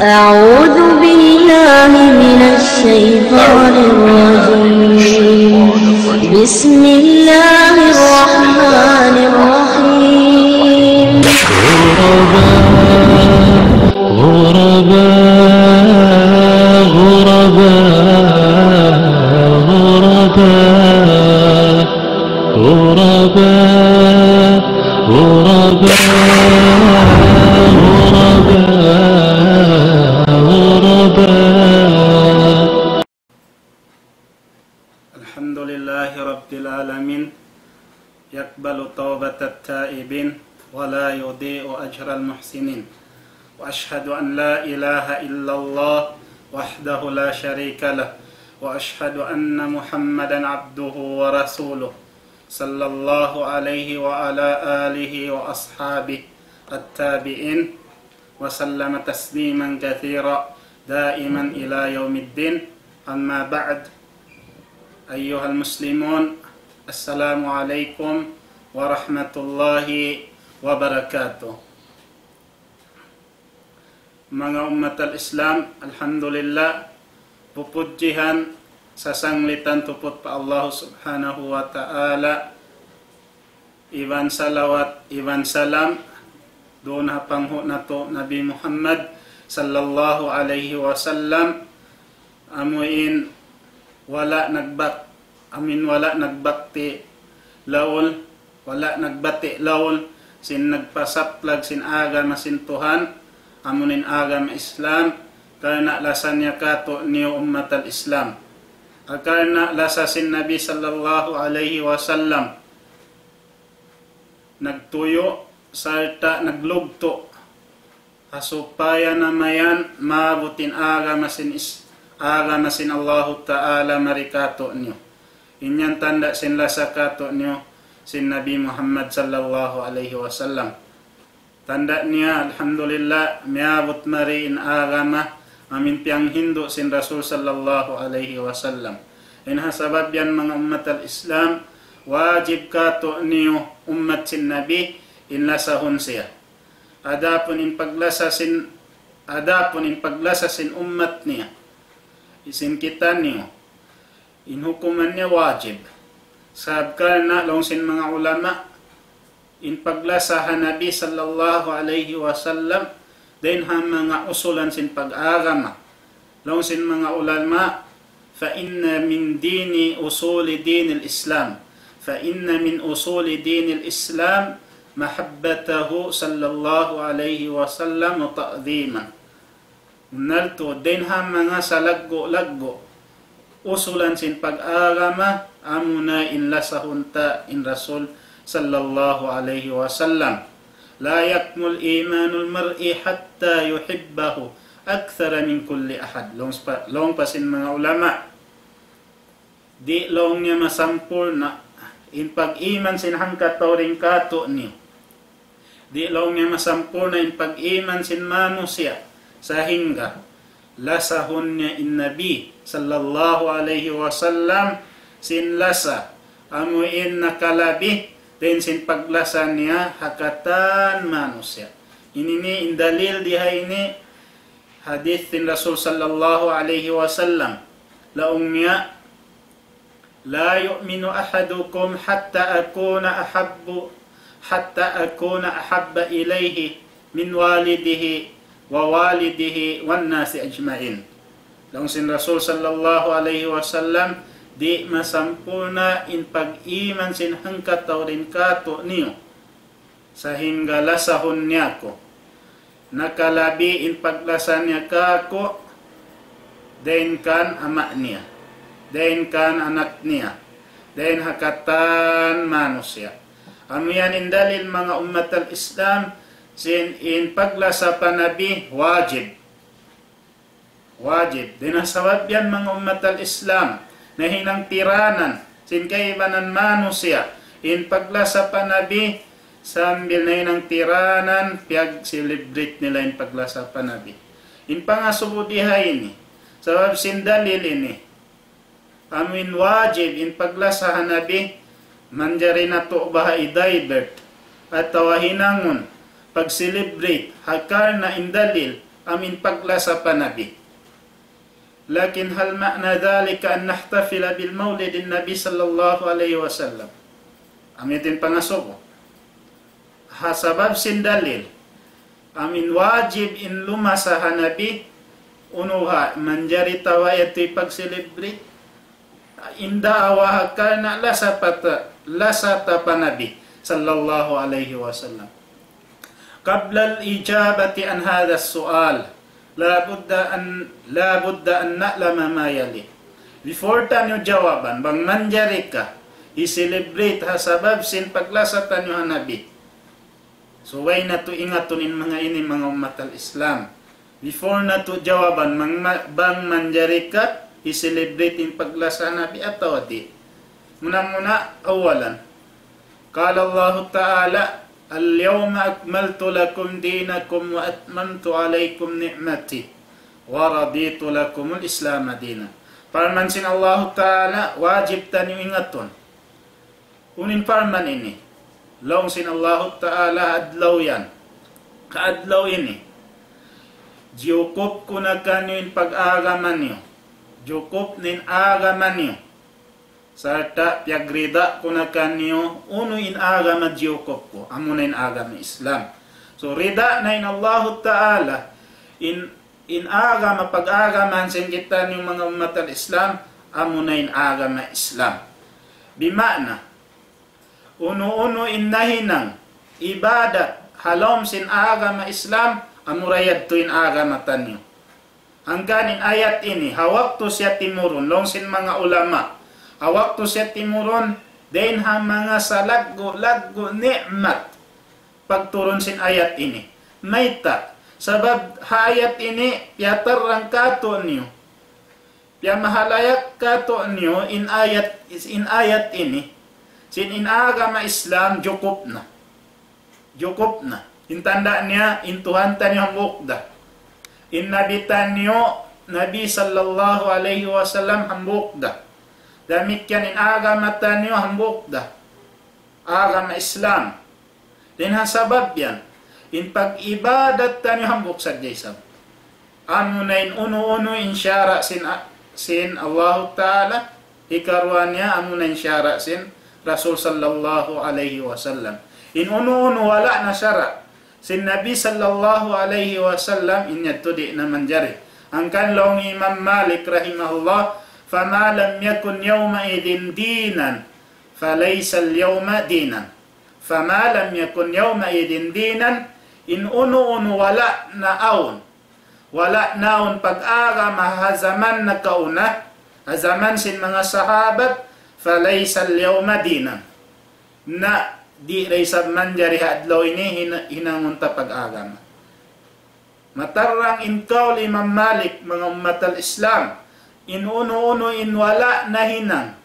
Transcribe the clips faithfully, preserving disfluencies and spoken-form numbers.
أعوذ بالله من الشيطان الرجيم. بسم الله الرحمن الرحيم. غرباء، غرباء، غرباء، غرباء. غرباء، غرباء، غرباء، غرباء. الحمد لله رب العالمين، يقبل توبة التائبين ولا يضيع أجر المحسنين. وأشهد أن لا إله إلا الله وحده لا شريك له، وأشهد أن محمدا عبده ورسوله، صلى الله عليه وعلى آله وأصحابه التابعين، وسلم تسليما كثيرا دائما إلى يوم الدين. أما بعد، أيها المسلمون، السلام عليكم ورحمة الله وبركاته. Manga ummat al-Islam, alhamdulillah, pupudjihan, sasanglitan tuput pa Allah Subhanahu wa Ta'ala, iban salawat, iban salam, duun ha panghu' natu' Nabi Muhammad sallallahu alayhi wasallam, amuin wala' nagbak-, amuin wala' nagbakti laul, wala' nagbati' laul, sin nagpasaplag sin agama sin Tuhan, amuin agama Islam, karna' lasa niya katu'niyu ummat al-Islam. Karna' lasa sin Nabi sallallahu alayhi wasallam nagtuyu' sarta' naglugtu' ha supaya na mayan maabut in agama sin is-, agama sin Allahu Ta'ala mari katu'niyu. In yan tanda' sin lasa katu'niyu sin Nabi Muhammad sallallahu alayhi wasallam. Tanda' niya, alhamdulillah, miyabut mari in agama amuin piyanghindu' sin Rasul sallallahu alayhi wasallam. In ha sabab yan, manga ummat al-Islam, wajib katu'niyu ummat sin Nabi in lasahun siya. Adapun in paglasa sin, adapun in paglasa sin ummat niya, sin kitaniyu, in hukuman niya wajib. Sabab karna' laung sin manga ulama, in paglasa ha Nabi sallallahu alayhi wasallam, dayn ha manga usulan sin pag-agama. Laung sin manga ulama, فإن من دين أصول دين الإسلام، فإن من أصول دين الإسلام محبته صلى الله عليه وسلم وتعظيمه. Bunnal tuud, dayn ha manga salaggu'-laggu' usulan sin pag-agama, amuna in lasahun ta in Rasul sallallahu alayhi wasallam. لا يكمل إيمان المرء حتى يحبه أكثر من كل أحد. Laung pa, laung pa sin manga ulama, di' laung niya masampurna' in pag-iman sin hangkatau dayn katu'niyu. Di' laung niya masampurna' in pag-iman sin manusiya', sahingga lasahun niya in Nabi sallallahu alayhi wasallam sin lasa amuin nakalabi dayn sin paglasa niya ha katan manusiya'. Ini ini in dalil di ha ini hadith sin Rasul sallallahu alayhi wasallam. Laung niya, لا يؤمن أحدكم حتى أكون أحب، حتى أكون أحب إليه من والده ووالده والناس أجمعين. Laung sin Rasul sallallahu alayhi wasallam, di' masampurna' in pag-iman sin hangkatau dayn katu'niyu sahingga lasahun niya aku. Nakalabi in paglasa niya kāku', dayn kan ama' niya, dayn kan anak niya, dayn ha katan manusiya'. Amu yan in dalil, manga ummat al-Islam, sin in paglasa pa Nabi wajib. Wajib. Dayn ha sabab yan, manga ummat al-Islam, nahinang tiranan sin kaibanan manusiya' in paglasa pa Nabi, sambil nahinang tiranan, piyag-celebrate nila in paglasa pa Nabi. In pangasubu di ha ini, sabab sin dalil ini, amuin wajib in paglasa ha Nabi, manjari natu' baha' i-divert atawa hinangun pag-celebrate, ha karna' in dalil, amu in paglasa pa Nabi. لكن هل معنى ذلك أن نحتفل بالمولد النبي صلى الله عليه وسلم؟ Amu yadtu in pangasubu. Ha sabab sin dalil, amu in wajib in lumasa ha Nabi, unu ha, manjari ta wala' yadtu pag-celebrate. In daawa ha karna' lasa pa ta, lasa ta pa Nabi sallallahu alayhi wasallam. قبل الإجابة عن هذا السؤال، لا بد أن، لا بد أن نعلم ما يلي. Before taniyu jawaban, bang manjari ka i-celebrate ha sabab sin paglasa taniyu ha Nabi. So, way natu' ingatun in manga ini, manga ummat al-Islam. Before natu' jawaban, mang ma-, bang manjari ka i-celebrate in paglasa Nabi atawa di'. Muna-muna, awalan. قال الله تعالى: اليوم أكملت لكم دينكم وأتممت عليكم نعمتي ورضيت لكم الإسلام دينا. Parman sin Allahu Ta'ala, wajib taniyu ingatun. Unu in parman ini? Laung sin Allahu Ta'ala, adlaw yan. Kaadlaw ini. Jiyukup ku na kaniyu in pag-agama niyu. Jiyukup na in agama niyu. Sarta' piyagrida ku na kaniyu, unu in agama jiyukup ku. Amu na in agama Islam. So, rida na in Allahu Ta'ala, in, in agama, pag-agama sin kitaniyu manga ummat al-Islam, amu na in agama Islam. Bima'na, unu-unu in nahinang ibadat ha lawm sin agama Islam, amura yadtu in agama taniyu. Hangkan in ayat ini, ha waktu siya timurun, laung sin manga ulama, ha waktu siya timurun, dayn ha manga salaggu'-laggu' ni'mat pagturun sin ayat ini. Mayta'? Sabab ha ayat ini, piyatarrang kātu'niyu, piyamahalayak kātu'niyu in ayat, in ayat ini. Sin in agama Islam, jukup na. Jukup na. In tanda' niya, in Tuhan taniyu hambuuk da. In Nabi taniyu, Nabi sallallahu alayhi wasallam hambuuk da. Damikkiyan in agama taniyu hambuuk da. Agama Islam. Dayn ha sabab yan, in pag-ibadat taniyu hambuuk sadja isab. Amuna in unu-unu in sara' sin, sin Allahu Ta'ala, hikaruwa niya amuna in sara' sin Rasul sallallahu alayhi wasallam. In unu-unu wala' na sara' sin Nabi sallallahu alayhi wasallam, in yadtu di' na manjari. Hangkan laung Imam Malik rahimahullah, فما لم يكن يومئذ دينا فليس اليوم دينا. فما لم يكن يومئذ دينا, in unu-unu wala' na awn, wala' na awn pag-agama ha jaman nakauna, ha jaman sin manga sahabat, فليس اليوم دينا. Na di' da isab manjari ha adlaw ini hina-, hinangun ta pag-agama. Matarrang in kaul Imam Malik, manga ummat al-Islam, in unu-unu in wala' nahinang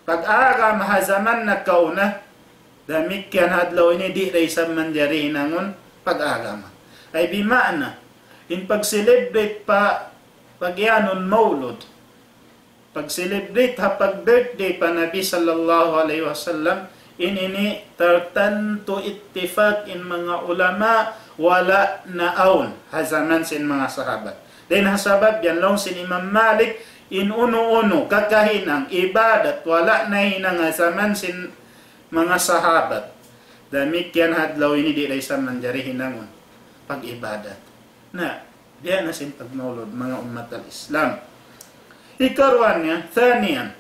pag-agama ha jaman nakauna, damikkiyan ha adlaw ini di' da isab manjari hinangun pag-agama. Ay bima'na, in pag-celebrate pa, pagiyanun maulud, pag-celebrate ha pag-birthday pa Nabi sallallahu alayhi wasallam, in ini tartantu ittifaq in manga ulama wala' na awn ha jaman sin manga sahabat. Dayn ha sabab yan laung sin Imam Malik, in unu-unu kakahinang ibadat wala' nahinang ha jaman sin manga sahabat, damikkiyan ha adlaw ini di' da isab manjari hinangun pag-ibadat. Na, biya' na sin pagmaulud, manga ummat al-Islam. Hikaruwa niya, ثانيا,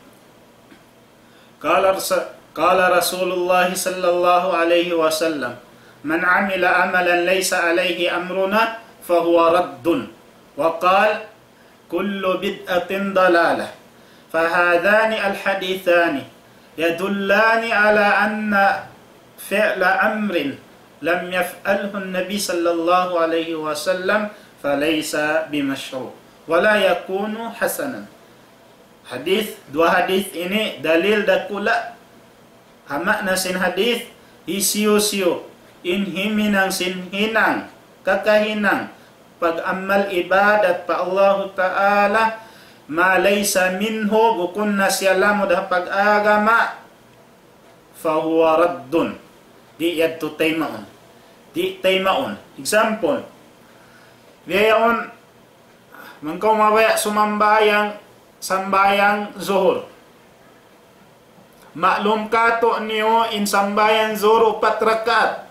قال رس-، قال رسول الله صلى الله عليه وسلم: من عمل عملا ليس عليه أمرنا فهو رد. وقال: كل بدعة ضلالة. فهذان الحديثان يدلان على أن فعل أمر لم يفعله النبي صلى الله عليه وسلم فليس بمشروع ولا يكون حسنا. Hadith, duwa hadith ini dalil dakula' ha ma'na sin hadith, hisiyu-siyu in himinang sin hinang, kakahinang, pag-amal ibadat pa Allahu Ta'ala, ما ليس منه, bukun na siya lamud ha pag-agama, فهو رد. Di' yadtu taymaun. Di' taymaun. Example, Biya' yaun, bang kaw mabaya' sumambahayang, sambahayang zuhur. Maklum katu' niyu in sambahayang zuhur upat rakaat.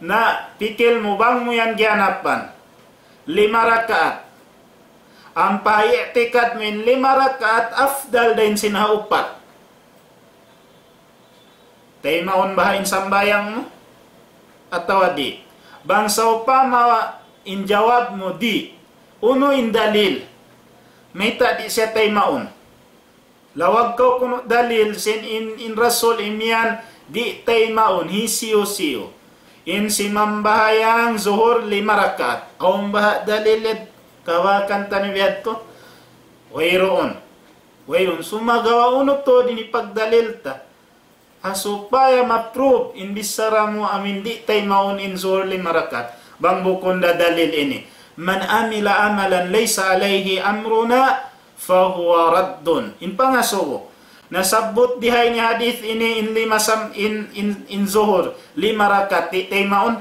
Na, pikil mu bang mu yan giyanapan. Lima rakaat. Ampa i'tikad mu in lima rakaat afdal dayn sin ha upat. Taymaun baha' in sambahayang mu? Atawa di'? Bang sawpama in jawab mu di', unu in dalil? Mayta' di' siya taymaun? Lawag kaw kunu' dalil sin in, in Rasul imiyan di' taymaun, hisiyu-siyu. In simambahayang zuhur lima rakaat. Awn baha' dalil yad kawakan taniyu biyadtu? Wayruun. Wayruun. Sumagawa' unu tuud in hipagdalil ta? Ha supaya ma-prove in bichara mu amu in di' taymaun in zuhur lima rakaat. Bang bukun da dalil ini. من عمل عملا ليس عليه أمرنا فهو رد. In pangasubu. Nasabbut di ha ini hadith ini in lima sam-, in, in, in zuhur, lima rakaat, di' taymaun?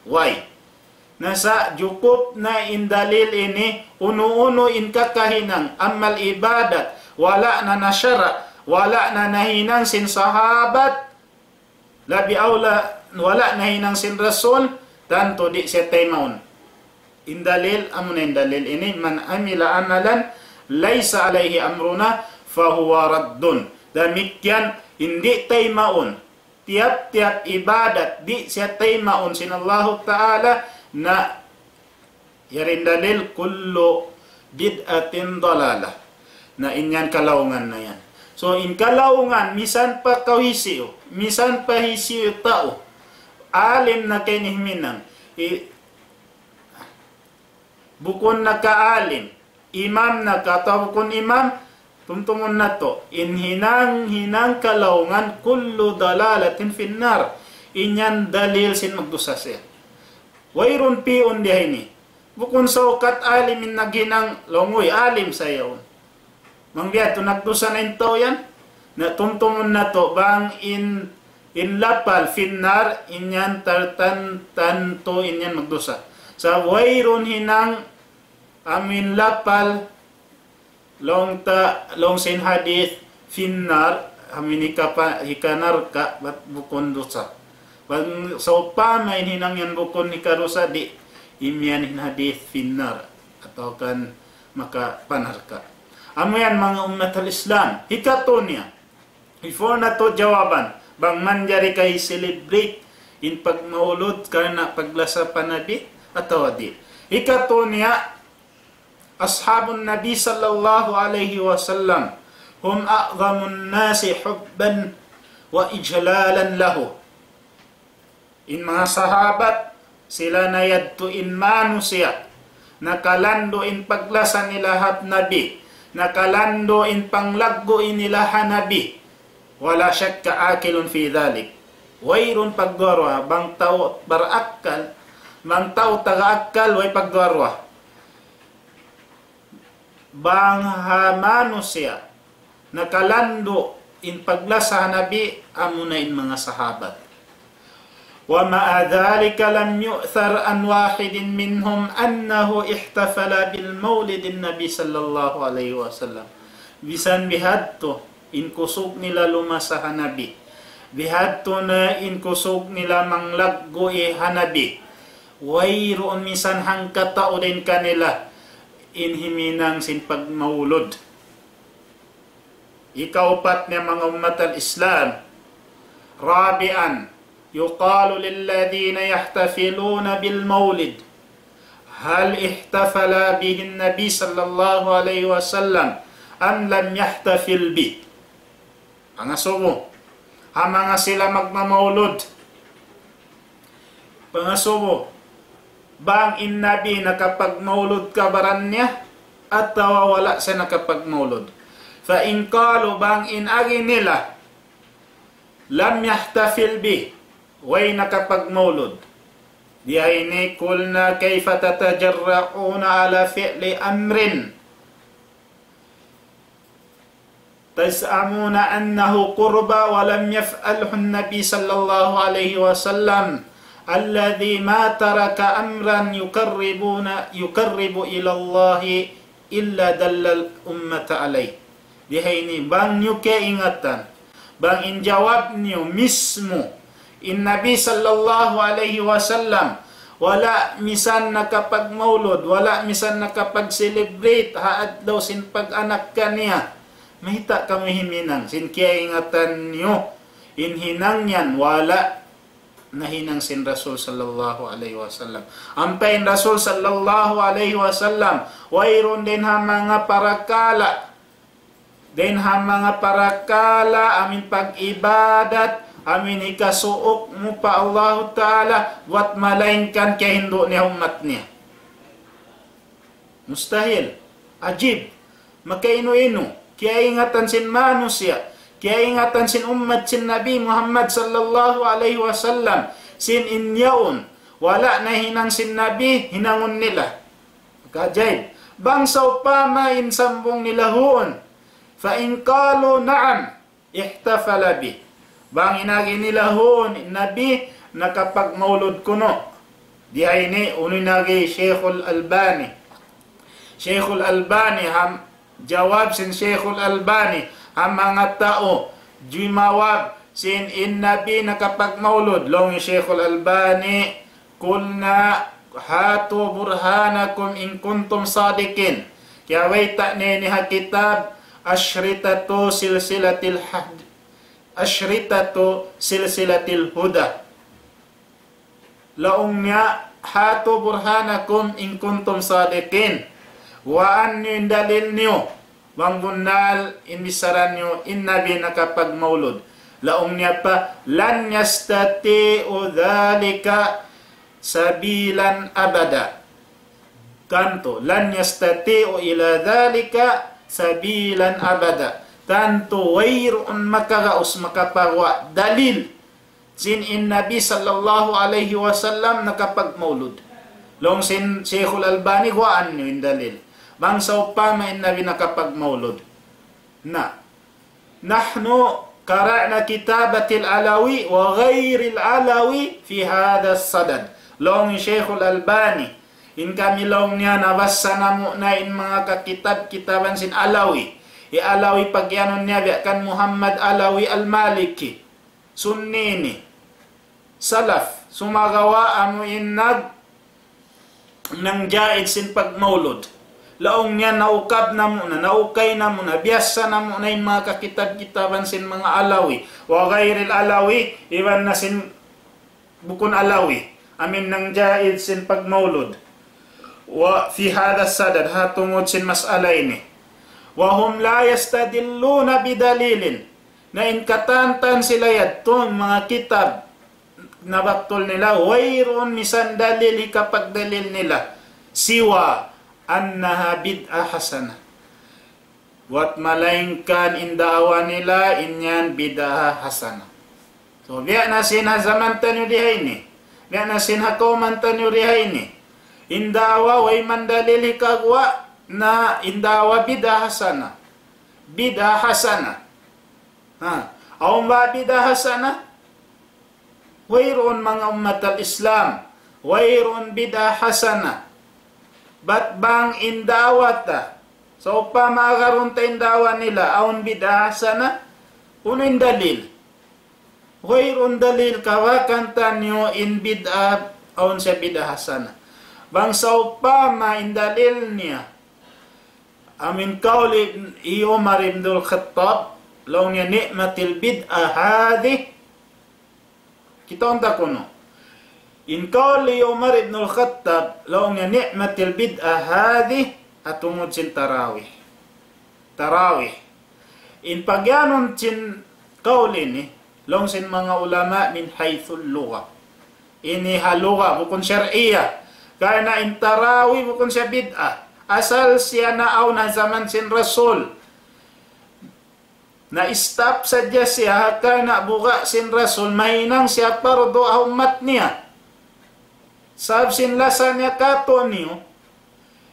Way. Na sa' jukup na in dalil ini, unu-unu in kakahinang amal ibadat, wala' na na sara', wala' na nahinang sin sahabat, labi awla, wala' nahinang sin Rasul, tantu di' siya taymaun. In dalil, amu na in dalil ini, من عمل عملا ليس عليه أمرنا فهو رد. Damikkiyan, in di' taymaun. Tiyap-tiyap ibadat di' siya taymaun sin Allahu Ta'ala na yari in dalil كل بدعة ضلالة. Na in yan kalaungan na yan. So in kalaungan, misan pa kaw hisiyu, misan pa hisiyu tau, alim na kaw ini himinang, i-, bukun na ka alim, imam na ka atawa bukun imam, tumtumun natu', in hinang, hinang kalaungan كل ضلالة في النار. In yan dalil sin magdusa siya. Wayruun pi'un di ha ini. Bukun saukat alim in naghinang, laung, uy, alim sa yaun. Bang biya' tu nagdusa na in tau yan. Na tumtumun natu', bang in, in lapal في النار, in yan tartan-, tantu in yan magdusa. Sa' wayruun hinang amu in lapal, laung ta, laung sin hadith, في النار, amu in hikapa-, hikanarka', bat bukun dusa. Bang sawpama in hinang yan bukun hikadusa, di' imiyan in hadith في النار, atawa kan makapanarka'. Amu yan manga ummat al-Islam. Hikatu niya. Before natu' jawaban, bang manjari ka hi-celebrate in pagmaulud karna' paglasa pa Nabi, atawa di'. Hikatu niya, أصحاب النبي صلى الله عليه وسلم هم أعظم الناس حبا وإجلالا له. In manga sahabat, sila na yadtu in manusiya', nakalandu' in paglasa nila ha Nabi, nakalandu' in panglaggu' nila ha Nabi. ولا شك عاقل في ذلك. Wayruun pagduwa-ruwa, bang tau barakkal, bang tau taga akkal, way pagduwa-ruwa. Bang ha manusiya', nakalandu' in paglasa ha Nabi, amuna in manga sahabat. ومع ذلك لم يؤثر عن واحد منهم أنه احتفل بالمولد النبي صلى الله عليه وسلم. Bisan bihadtu in kusug nila lumasa ha Nabi. Bihadtu na in kusug nila manglaggu' ha Nabi. Wayruun misan hangkatau dayn kanila in himinang sin pagmaulud. Ikaupat niya manga ummat al-Islam. رابعا، يقال للذين يحتفلون بالمولد: هل احتفل به النبي صلى الله عليه وسلم أم لم يحتفل به؟ Pangasubu. Ha manga sila magmamaulud. Pangasubu, bang in Nabi nakapagmaulud ka baran niya, atawa wala' siya nakapagmaulud. فإن قالوا, bang in agi nila, لم يحتفل به, way nakapagmaulud. Di ha ini, قلنا كيف تتجرؤون على فعل أمر تزعمون أنه قربة ولم يفعله النبي صلى الله عليه وسلم، الذي ما ترك أمرا يقربنا، يقرب إلى الله إلا دل الأمة عليه. Di ha ini, bang niyu kaingatan, bang in jawab niyu mismu, in Nabi sallallahu alayhi wasallam, wala' misan nakapagmaulud, wala' misan nakapag-celebrate ha adlaw sin pag-anak kaniya, mayta' kamu himinang sin kiyaingatan niyu, in hinang yan, wala' nahinang sin Rasul sallallahu alayhi wasallam. Ampa in Rasul sallallahu alayhi wasallam, wayruun dayn ha manga parakala', dayn ha manga parakala', amuin pag-ibadat, amuin hikasuuk mu pa Allahu Ta'ala, buwat malaingkan kiyahindu' niya ummat niya. Mustahil. Ajib. Makainu-inu. Kiyaingatan sin manusiya'. Kiyaingatan sin ummat sin Nabi Muhammad sallallahu alayhi wasallam. Sin in yaun. Wala' nahinang sin Nabi, hinangun nila. Makaajib. Bang sawpama in sambung nila huun. فإن قالوا نعم. احتفل به. Bang in agi nila huun, in Nabi nakapagmaulud kunu'. Di ha ini, unu in agi Shaykhul Albani. Shaykhul Albani, ham, jawab sin Shaykhul Albani, ha manga tau, jimawab sin in Nabi nakapagmaulud. Laung Shaykhul Albani, قلنا هاتوا برهانكم إن كنتم صادقين. Kiyabayta' niya ini ha kitab أشرطة سلسلة الح-، أشرطة سلسلة الهدى. Laung niya, هاتوا برهانكم إن كنتم صادقين. Guwaa niyu in dalil niyu. Bang bunnal in bichara niyu, in Nabi nakapagmaulud. Laung niya pa, لن يستطيعوا ذلك سبيلا أبدا. Tantu, لن يستطيعوا إلى ذلك سبيلا أبدا. Tantu, wayruun makagaus makapaguwa' dalil sin in Nabi sallallahu alayhi wasallam nakapagmaulud. Laung sin Shaykhul Albani, guwaan niyu in dalil. Bang sawpama in Nabi nakapagmaulud. Na, نحن قرأنا كتابة العلوي وغير العلوي في هذا الصدد. Laung Shaykhul Albani, in kami laung niya nabassa namu' na in manga kakitab-kitaban sin Alawi. Hi Alawi pagiyanun niya biya' kan Muhammad Alawi Al-Maliki. Sunni ini. Salaf. Sumagawa' amu in nag-, nangjaid sin pagmaulud. Laung niya naukab namu' na, naukay namu' na, biyassa namu' na in manga kakitab-kitaban sin manga Alawi. وغير العلوي, iban na sin bukun Alawi. Amuin nangjaid sin pagmaulud. وفي هذا الصدد, ha tungud sin mas'ala ini. وهم لا يستدلون بدليل. Na in katantan sila yadtu, manga kitab, nabattul nila, wayruun misan dalil hikapagdalil nila. سوى أنها بدعة حسنة. Buwat malaingkan in da'wa nila, in yan bid'ah hasanah. So, biya' na sin ha jaman taniyu di ha ini. Biya' na sin ha kawman taniyu di ha ini. In da'wa, way man dalil hikaguwa', na in da'wa bid'ah hasanah. Bid'ah hasanah. Ha, awn ba bid'ah hasanah? Wayruun manga ummat al-Islam. Wayruun bid'ah hasanah. Bat bang in da'wa ta, sawpama agarun ta in da'wa nila, awn bid'ah hasanah, unu in dalil? Wayruun dalil kawakan taniyu in bid'ah, awn siya bid'ah hasanah. Bang sawpama in dalil niya, amuin kaul hi Umar ibn al-Khattab, laung niya نعمة البدعة هذه. Kitaun ta kunu'. In kaul hi Umar ibn al-Khattab, laung niya نعمة البدعة هذه, ha tungud sin tarawih. Tarawih. In pagiyanun sin kaul ini, laung sin manga ulama من حيث اللغة. Ini ha lugha, bukun shar'iyah. Karna' in tarawih bukun siya bid'ah. Asal siya naawn ha jaman sin Rasul. Na-stop sadja siya, ha karna' buga' sin Rasul, mahinang siya pardu ha ummat niya. Sabab sin lasa niya katu'niyu,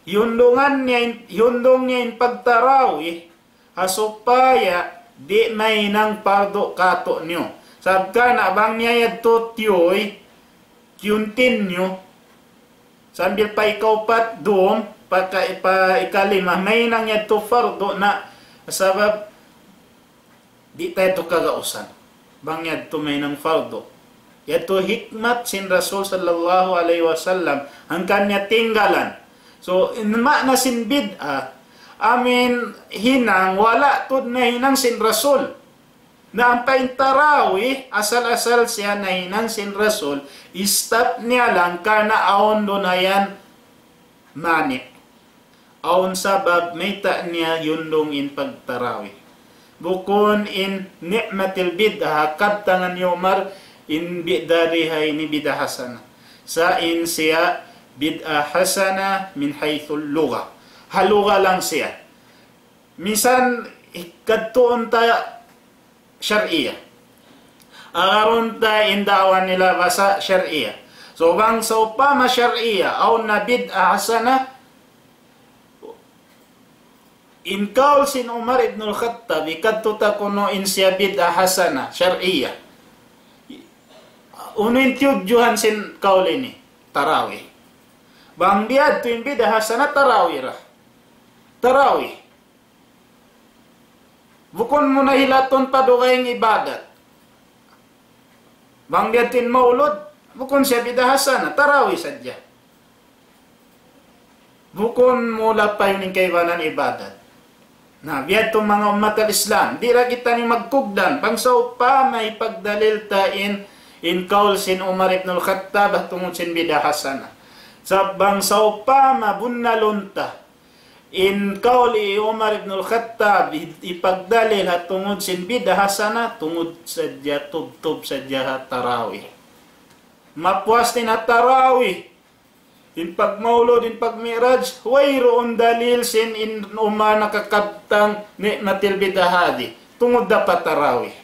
hiyundungan niya in, hiyundung niya in pagtarawih, ha supaya di' mahinang pardu katu'niyu. Sabab karna' bang niya yadtu tiyuy, continue, sambil pa ikaupat dum, pa, ka, pa ikalima, mahinang yadtu fardu na sabab di' ta yadtu kagausan. Bang yadtu mahinang fardu. Yadtu hikmat sin Rasul sallallahu alayhi wasallam, hangkan niya tinggalan. So, in maana sin bid'ah, amin hinang, wala' tuud nahinang sin Rasul. Na ampa in tarawih, asal-asal siya nahinang sin Rasul, stop niya lang karna' awn duun yan mani'. Awn sabab mayta' niya yundung in pagtarawih. Bukun in ni'matil bid'ah, kabtangan hi Umar in bid'ah di ha ini bid'ah hasana. Sa' in siya bid'ah hasana min haythul lugha. Ha lugha lang siya. Minsan, kadtuun ta shar'iyah. Agarun ta in da'wa nila basa shar'iyah. So, bang sawpama shar'iyah, awn na bid'ah hasana, in kaul sin Umar ibn al-Khattab, hikadtu ta kunu' in siya bid'ah hasana, shar'iyah. Unu in tiyudjuhan sin kaul ini? Tarawih. Bang biyadtu in bid'ah hasana, tarawih ra. Tarawih. Bukun mu na hilatun pa dugaing ibadat. Bang biyadtu in maulud, bukun siya bid'ah hasana, tarawih sadja. Bukun mu lapayun in kaibanan ibadat. Na, biyadtu manga ummat al-Islam, di' ra kitaniyu magkugdan, bang sawpama hipagdalil ta in, in kaul sin Umar ibn al-Khattab, tungud sin bid'ah hasana. Sa' bang sawpama bunnalun ta, in kaul hi Umar ibn al-Khattab, hi-, hipagdalil ha tungud sin bid'ah hasana, tungud sadja, tubtub sadja ha tarawih. Mapuas in ha tarawih, in pagmaulud, in pagmi'raj, wayruun dalil sin in Umar nakakabtang ni'matil bid'ah hadhi. Tungud da pa tarawih.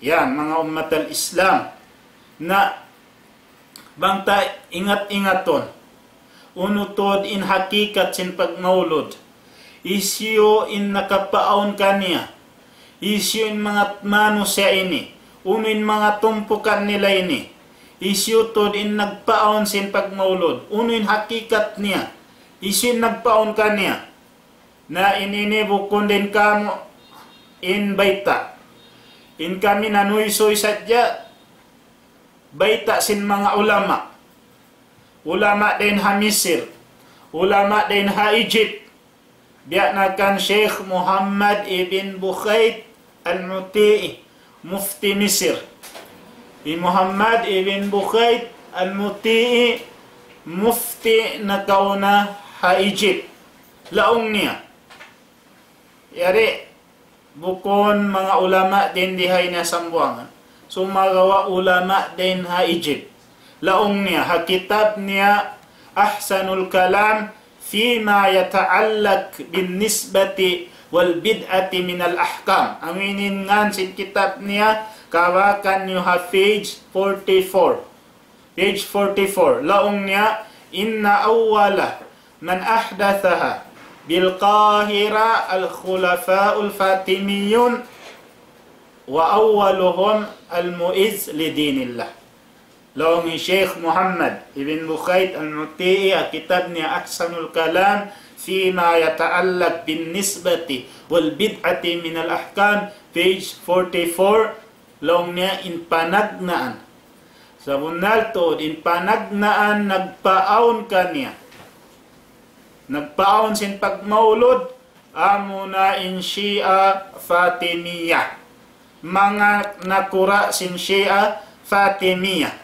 Yan, manga ummat al-Islam. Na, bang ta ingat-ingatun, unu tuud in hakikat sin pagmaulud. Hisiyu in nakapaawn kaniya. Hisiyu in manga manusiya' ini. Unu in manga tumpukan nila ini. Hisiyu tuud in nagpaawn sin pagmaulud. Unu in hakikat niya. Hisiyu in nagpaawn kaniya. Na in ini bukun dayn kamu' in bayta'. In kami nanuysuy sadja bayta' sin manga ulama. Ulama dayn ha Misir. Ulama dayn ha Egypt. Biya' na kan Sheikh Muhammad ibn Bukhayt al-Muti'i, mufti Misir. Hi Muhammad ibn Bukhayt al-Muti'i, mufti nakauna ha Egypt. Laung niya. Yari, bukun manga ulama dayn di ha ini ha Sambuwangan. Sumagawa' ulama dayn ha Egypt. Laung niya, ha kitab niya Ahsanul Kalam Fima Yata'allaq bin Nisbati wal Bid'ati Minal Ahkam. Amu in ngan sin kitab niya, kabakan niyu ha page forty-four. Page forty-four. Laung niya, إن أول من أحدثها بالقاهرة الخلفاء الفاطميون وأولهم المعز لدين الله. Laung hi Sheikh Muhammad ibn Bukhayt al-Muti'i ha kitab niya Ahsanul Kalam Fima Yata'allaq bin Nisbati wal Bid'ati Minal Ahkam, page forty-four, laung niya in panagnaan. Sabunnal tuud in panagnaan nagpaawn kaniya. Nagpaawn sin pagmaulud, amuna in Shia Fatimiyah. Manga nakura' sin Shia Fatimiyah.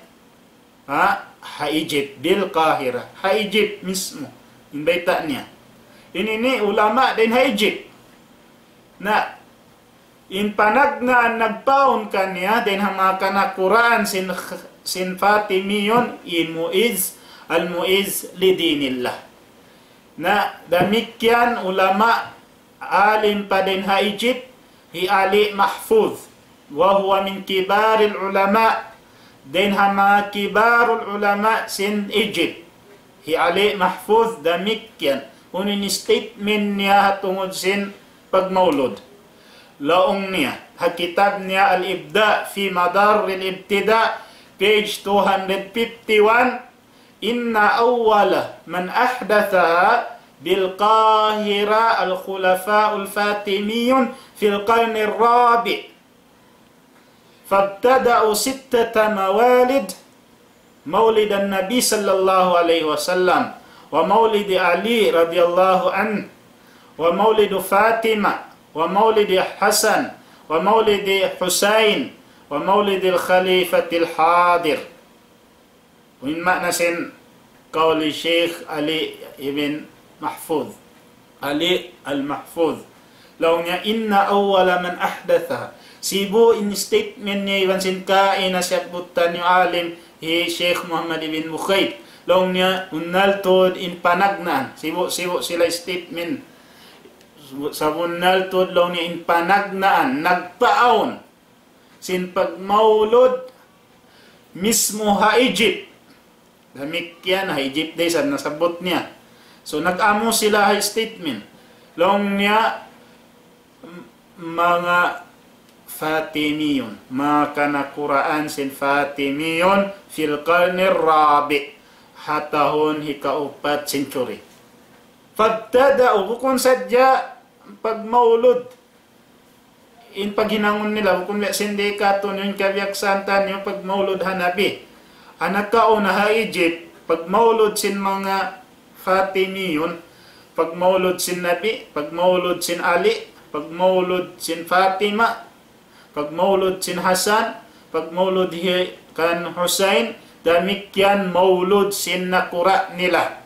Ha? Ha Egypt, bil Qahira. Ha Egypt mismu. In bayta' niya. Ini ini ulama dayn ha Egypt. Na, in panagnaan nagpaawn kaniya, dayn ha manga kanakuraan sin, sin Fatimiyun, hi Mu'izz, al-Mu'izz li dinillah. Na, damikkiyan ulama, alim pa dayn ha Egypt, hi Ali Mahfuz, wa huwa min kibaril ulama, dayn ha manga kibarul ulama sin Egypt. Hi Ali Mahfuz damikkiyan, unu in statement niya ha tungud sin pagmaulud. Laung niya, ha kitab niya Al-Ibda' fi Madarril Ibtida', Page two hundred fifty-one, إن أول من أحدثها بالقاهرة الخلفاء الفاطميون في القرن الرابع، فابتدأوا ستة موالد، مولد النبي صلى الله عليه وسلم، ومولد علي رضي الله عنه، ومولد فاطمة، ومولد حسن، ومولد حسين، ومولد الخليفة الحاضر. In maana sin kawl hi Sheikh Ali ibn Mahfuz. Ali al-Mahfuz. Laung niya, إن أول من أحدثها. Sibu' in statement niya iban sin kaina siyabbut taniyu alim hi Sheikh Muhammad ibn Bukhayd. Laung niya, bunnal tuud in panagnaan. Sibu', sibu' sila statement. Sabunnal tuud laung niya in panagnaan, nagpaawn sin pagmaulud mismu ha Egypt. Damikkiyan ha Egypt da isab nasabbut niya. So, nag-amu sila ha statement. Laung niya, m-, manga Fatimiyun, manga kanakuraan sin Fatimiyun fil qarnir rabi', ha tahun hikaupat century. Fabtada'u, bukun sadja pagmaulud in paghinangun nila, bukun biya' sin di katu' niyu in kabiyaksahan taniyu pagmaulud ha Nabi. Ha nakauna ha Egypt, pagmaulud sin manga Fatimiyun, pagmaulud sin Nabi, pagmaulud sin Ali, pagmaulud sin Fatima, pagmaulud sin Hasan, pagmaulud hi-, kan Husayn, damikkiyan maulud sin nakura' nila.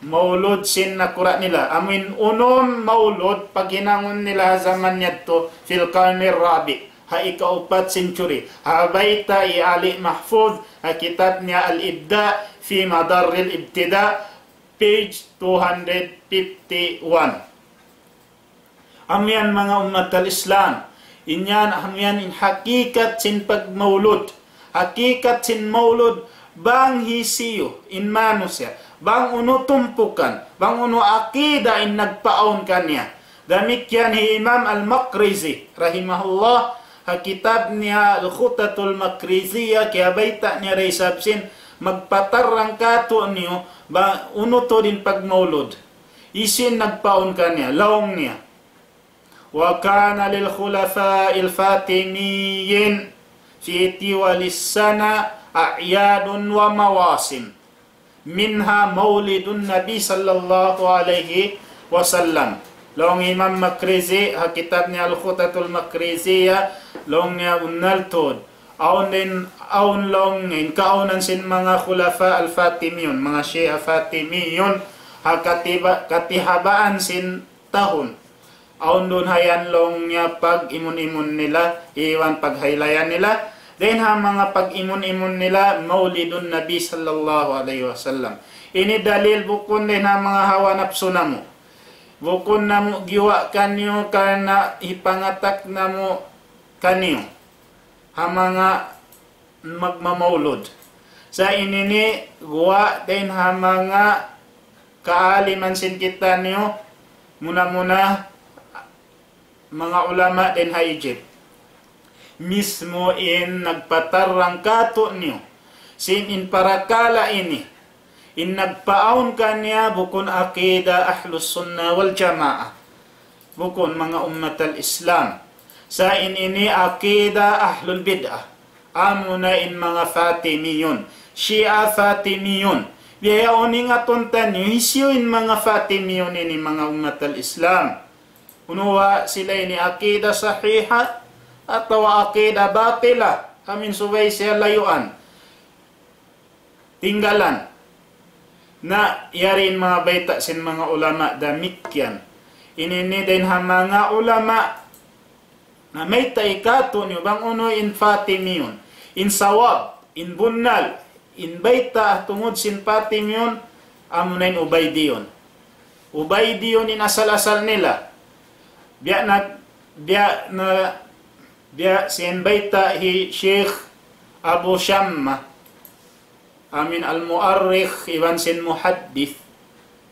Maulud sin nakura' nila. Amuin unum maulud paghinangun nila ha jaman yadtu fil qarnir rabi'. Ha ikaupat century. Ha bayta' hi Ali Mahfuz, ha kitab niya Al-Ibda' fi Madarril Ibtida', page two hundred fifty-one. Amu yan manga ummat al-Islam. In yan, amu yan in hakikat sin pagmaulud. Hakikat sin maulud, bang hisiyu in manusiya', bang unu tumpukan, bang unu akida in nagpaawn kaniya. Damikkiyan hi Imam al-Maqrizi, rahimahullah, ha kitab niya Al-Khutatul Maqriziyah, kiyabayta' niya da isab sin magpatarrang katu' niyu, bang unu tuud in pagmaulud. Hisiyu in nagpaawn kaniya, laung niya. وكان للخلفاء الفاطميين في طوال السنة أعياد ومواسم، منها مولد النبي صلى الله عليه وسلم. Laung Imam Maqrizi, ha kitab niya Al-Khutatul Maqriziyah, laung niya bunnal tuud. Awn in, awn laung in kaawnan sin manga khulafa al-Fatimiyun, manga Shia Fatimiyun, ha katiba-, katihabaan sin tahun. Awn duun ha yan laung niya pag-imun-imun nila, iban paghaylayan nila. Dayn ha manga pag-imun-imun nila, Maulidun Nabi sallallahu alayhi wasallam. Ini dalil bukun dayn ha manga hawa napsu namu'. Bukun namu' giyuwa' kaniyu karna' hipangatak namu' kaniyu ha manga magmamaulud. Sa' ini ini guwa' dayn ha manga kaaliman sin kitaniyu, muna-muna manga ulama dayn ha Egypt. Mismu in nagpatarrang kātu'niyu sin in parakala' ini, in nagpaawn kaniya bukun aqida Ahlus Sunnah wal Jamaah. Bukun manga ummat al-Islam. Sa' in ini aqida ahlul bid'ah. Amuna in manga Fatimiyun. Shia Fatimiyun. Bihaun ingatun taniyu, hisiyu in manga Fatimiyun ini manga ummat al-Islam. Unu ba sila ini aqida sahiha atawa aqida batila? Amin subay siya layuan. Tinggalan. Na, yari in manga bayta' sin manga ulama damikkiyan. Ini ini dayn ha manga ulama na mayta' kātu'niyu bang unu in Fatimiyun. In sawab, in bunnal, in bayta' tungud sin Fatimiyun, amuna in Ubaydiyun. Ubaydiyun in asal-asal nila. Biya' na, biya' na, biya' sin bayta' hi Sheikh Abu Shamma. Amin al-mu'arrikh iban sin muhaddith.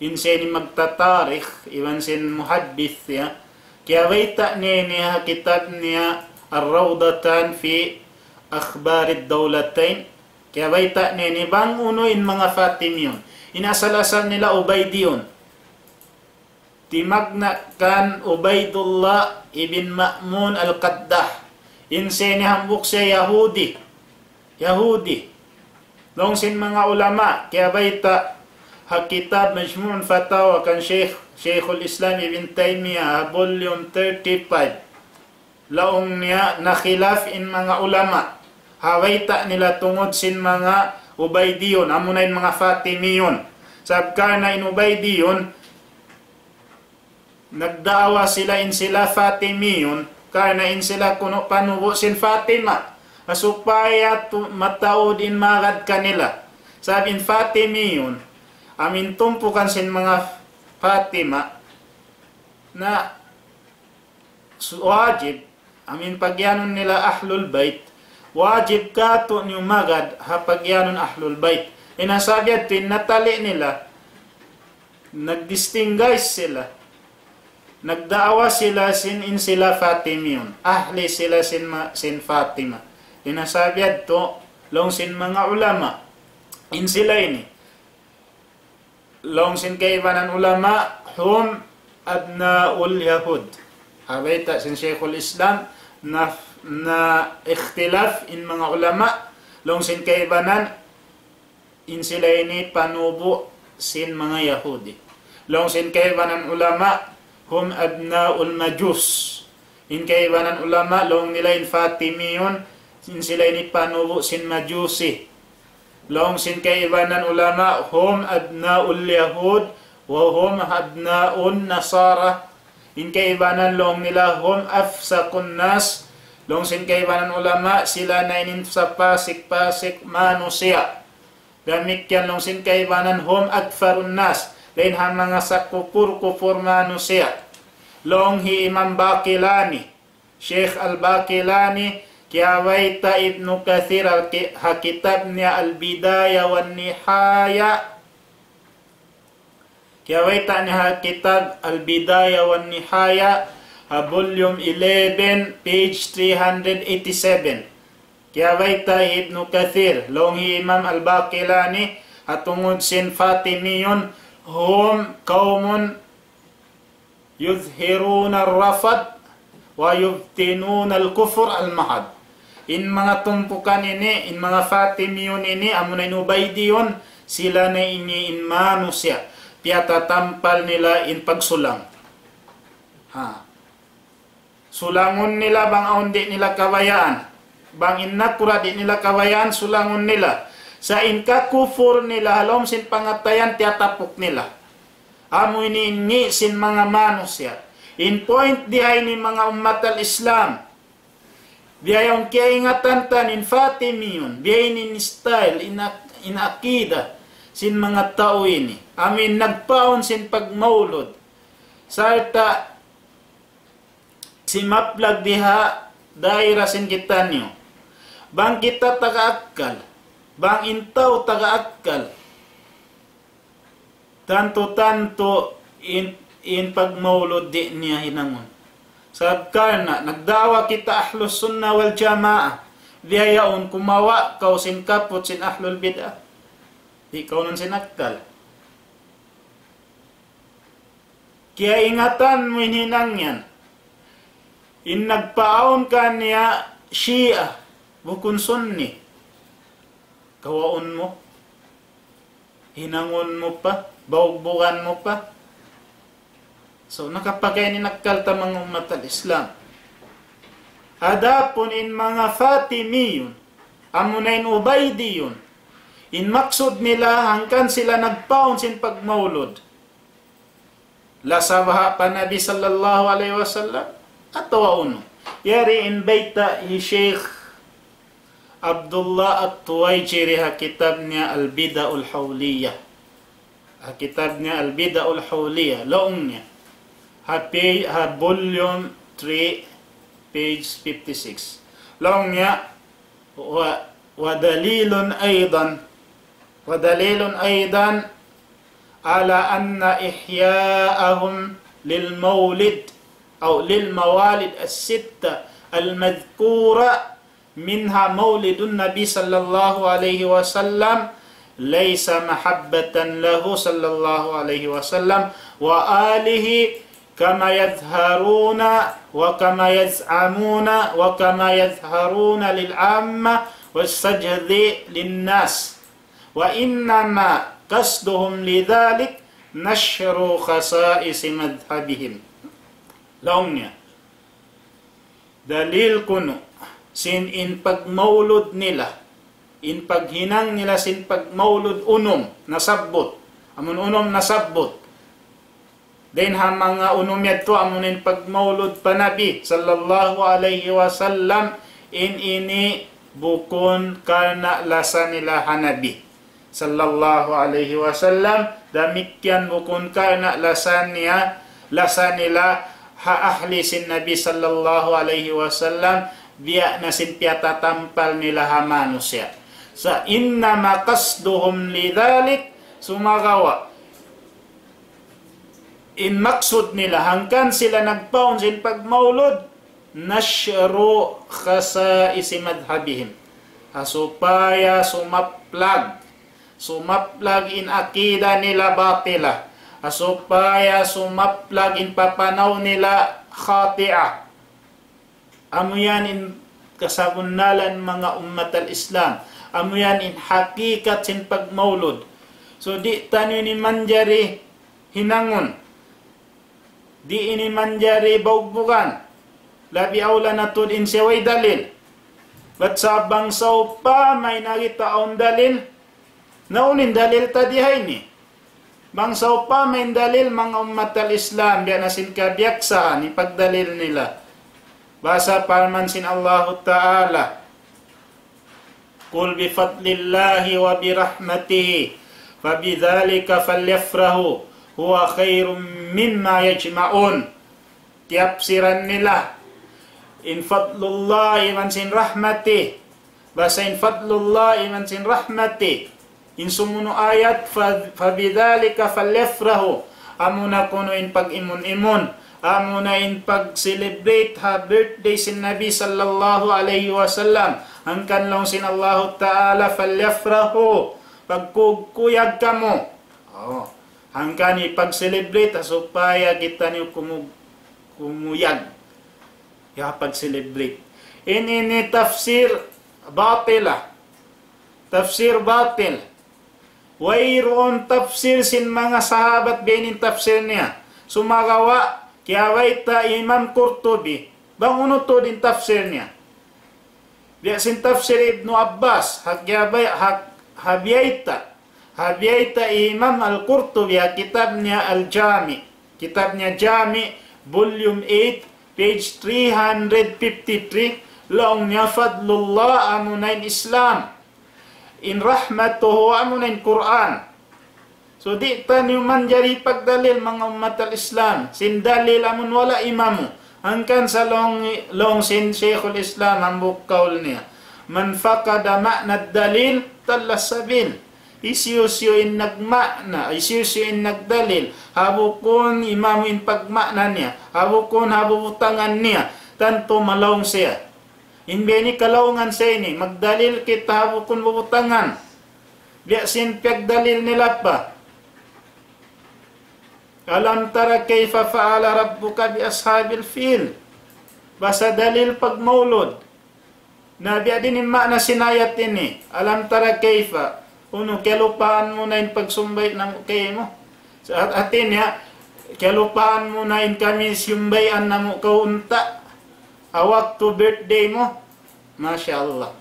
In sin magtatarikh iban sin muhaddith, ya. Kiyabayta' niya ini ha kitab niya Ar-Rawdatan fi Akhbarid Dawlatayn. Kiyabayta' niya ini bang unu in manga Fatimiyun. In asal-asal nila Ubaydiyun. Timagna' kan Ubaydullah ibn Ma'mun al-Qaddah. In siya ini hambuuk siya Yahudi. Yahudi. Laung sin manga ulama, kiyabayta' ha kitab Majmu' al-Fatawa kan Shaykh, Shaykhul Islam Ibn Taymiyyah, ha volume thirty-five. Laung niya nakhilaf in manga ulama. Ha bayta' nila tungud sin manga Ubaydiyun, amuna in manga Fatimiyun. Sabab karna' in Ubaydiyun, nagdaawa sila in sila Fatimiyun, karna' in sila kunu' panubu' sin Fatima. Ha supaya tu-, mataud in magad kanila. Sabab in Fatimiyun, amu in tumpukan sin manga Fatima, na su-, wajib, amu in pagiyanun nila Ahlul Bayt, wajib katu' niyu magad ha pagiyanun Ahlul Bayt. In ha sabab yadtu in natali' nila, nag-distinguish sila, nagdaawa sila sin in sila Fatimiyun, ahli sila sin ma-, sin Fatima. In ha sabab yadtu, laung sin manga ulama, in sila ini, laung sin kaibanan ulama, hum abna'ul Yahud. Ha bayta' sin Shaykhul Islam, na, na ikhtilaf in manga ulama, laung sin kaibanan, in sila ini panubu' sin manga Yahudi. Laung sin kaibanan ulama, hum abna'ul Majus. In kaibanan ulama, laung nila in Fatimiyun, in sila ini panubu' sin Majusi. Laung sin kaibanan ulama, hum abna'ul Yahud, wa hum abna'un Nasara. In kaibanan laung nila, hum afsaqun nas. Laung sin kaibanan ulama, sila na in sapasik-pasik manusiya'. Damikkiyan laung sin kaibanan, hum akfarun nas. Dayn ha manga sakupur-kupur manusiya'. Laung hi Imam Baqilani. Shaykh Al-Baqilani, kiyabayta' Ibnu Kathir al-ki-, ha kitab niya Al-Bidaya wan Nihaya. Kiyabayta' niya ha kitab Al-Bidaya wan Nihaya, ha volume eleven, page three hundred eighty-seven. Kiyabayta' Ibnu Kathir, laung hi Imam Al-Baqilani, ha tungud sin Fatimiyun, hum qawmun يظهرون الرفض ويبطنون الكفر المحض. In manga tumpukan ini, in manga Fatimiyun ini, amuna in Ubaydiyun, sila na ini in manusiya'. Piyatatampal nila in pagsulang. Ha. Sulangun nila bang awn di' nila kabayaan. Bang in nakura' di' nila kabayaan, sulangun nila. Sa' in kakupur nila, ha lawm sin pangatayan, tiyatapuk nila. Amu ini in ngi' sin manga manusiya'. In point di ha ini manga ummat al-Islam. Biya' yaun kiyaingatan ta in Fatimiyun. Biya' ini in style, in ak-, in akida sin manga tau ini. Amu in nagpaun sin pagmaulud. Sarta' simaplag di ha daira sin kitaniyu. Bang kita taga akkal, bang in tau taga akkal, tantu-tantu in, in pagmaulud di' niya hinangun. Sabab karna' nagdaawa kita Ahlus Sunnah wal Jamaah, biya' yaun kumawa' kaw sin kaput sin Ahlul Bid'ah. Di' kaw nun sin akkal. Kiyaingatan mu in hinang yan. In nagpaawn kaniya Shia, bukun Sunni. Kawaun mu, hinangun mu pa, baugbugan mu pa. So, nakapagay in akkal ta manga ummat al-Islam. Adapun in manga Fatimiyun, amuna in Ubaydiyun, in maksud nila hangkan sila nagpaun sin pagmaulud. Lasa baha' pa Nabi sallallahu alayhi wasallam, atawa unu. Yari in bayta' hi Shaykh Abdullah At-Tuwayjiri ha kitab niya Al-Bid'atul Hawliyah. Ha kitab niya Al-Bid'atul Hawliyah, laung niya. Ha pi-, ha volume three, page fifty-six. Laung niya, و-، ودليل أيضا، ودليل أيضا على أن إحياءهم للمولد أو للموالد الستة المذكورة منها مولد النبي صلى الله عليه وسلم ليس محبة له صلى الله عليه وسلم وآله كما يظهرون وكما يزعمون وكما يظهرون للعامة والسجد للناس، وإنما قصدهم لذلك نشر خصائص مذهبهم. Laung niya, dalil kunu' sin in pagmaulud nila, in paghinang nila sin pagmaulud unum nasabbut, amun unum nasabbut. Dayn ha manga unum yadtu amun in pagmaulud pa Nabi sallallahu alayhi wasallam, in ini bukun karna' lasa nila ha Nabi sallallahu alayhi wasallam, damikkiyan bukun karna' lasa niya, lasa nila ha ahli sin Nabi sallallahu alayhi wasallam, biya' na sin piyatatampal nila ha manusiya'. Sa' إنما قصدهم لذلك, sumagawa' in maksud nila hangkan sila nagpaun sin pagmaulud, نشر خصائص مذهبهم. Ha supaya sumaplag, sumaplag in akida nila batila. Ha supaya sumaplag in papanaw nila khati'ah. Amu yan in kasabunnalan manga ummat al-Islam. Amu yan in hakikat sin pagmaulud. So, di' taniyu ini manjari hinangun. Di' ini manjari baugbugan. Labi awla na tuud in siya way dalil. Bat sa' bang sawpama in ari ta awn dalil, na unu in dalil ta di ha ini? Bang sawpama in dalil manga ummat al-Islam, biya' na sin kabiyaksahan, in pagdalil nila. Basa parman sin Allahu Ta'ala, قل بفضل الله وبرحمته فبذلك فليفرحوا هو خير مما يجمعون. Tiyapsiran nila in fadlullah iban sin rahmati. Basa in fadlullah iban sin rahmati. In sumunu' ayat, fa-, فبذلك فليفرحوا. Amuna kunu' in pag-imun-imun. Amuna in pag-celebrate ha birthday sin Nabi sallallahu alayhi wasallam. Hangkan laung sin Allahu Ta'ala, فليفرحوا. Pagkuyag kamu. Oh. Hangkan in pag-celebrate, ha supaya kitaniyu kumu-, kumuyag. Ya, pag-celebrate. In ini tafsir batila. Tafsir batil. Wayruun tafsir sin manga sahabat biya' ini in tafsir niya. Sumagawa', kiyabayta' Imam Qurtubi. Bang unu tuud in tafsir niya. Biya' sin tafsir Ibnu Abbas, ha kiyabay-, ha, ha biyayta', ha biyayta' Imam Al-Qurtubi, ha kitab niya Al-Jami', kitab niya Jami', volume eight, page three hundred fifty-three, laung niya fadlullah amuna in Islam. In rahmatuhu amuna in Qur'an. So, di' taniyu manjari pagdalil manga ummat al-Islam. Sin dalil amun wala' imamu. Hangkan sa laung, laung sin Shaykhul Islam hambuuk kaul niya. من فقد معنى الدليل ضل السبيل. Hisiyu-siyu in nagma'na, hisiyu-siyu in nagdalil. Ha bukun imamu in pagma'na niya. Ha bukun ha bubutangan niya. Tantu malaung siya. In biya' ini kalaungan sa ini, magdalil kita ha bukun bubutangan. Biya' sin piyagdalil nila pa. ألم تر كيف فعل ربك بأصحاب الفيل. Basa dalil pagmaulud. Na biya' diin in ma'na sin ayat ini. ألم تر كيف. Unu, kiyalupahan mu na in pagsumbay' namu' kaymu? Sa-, hati niya, kiyalupahan mu na in kami siyumbayan namu' kaw unta'. Ha waktu birthday mu. Masha Allah.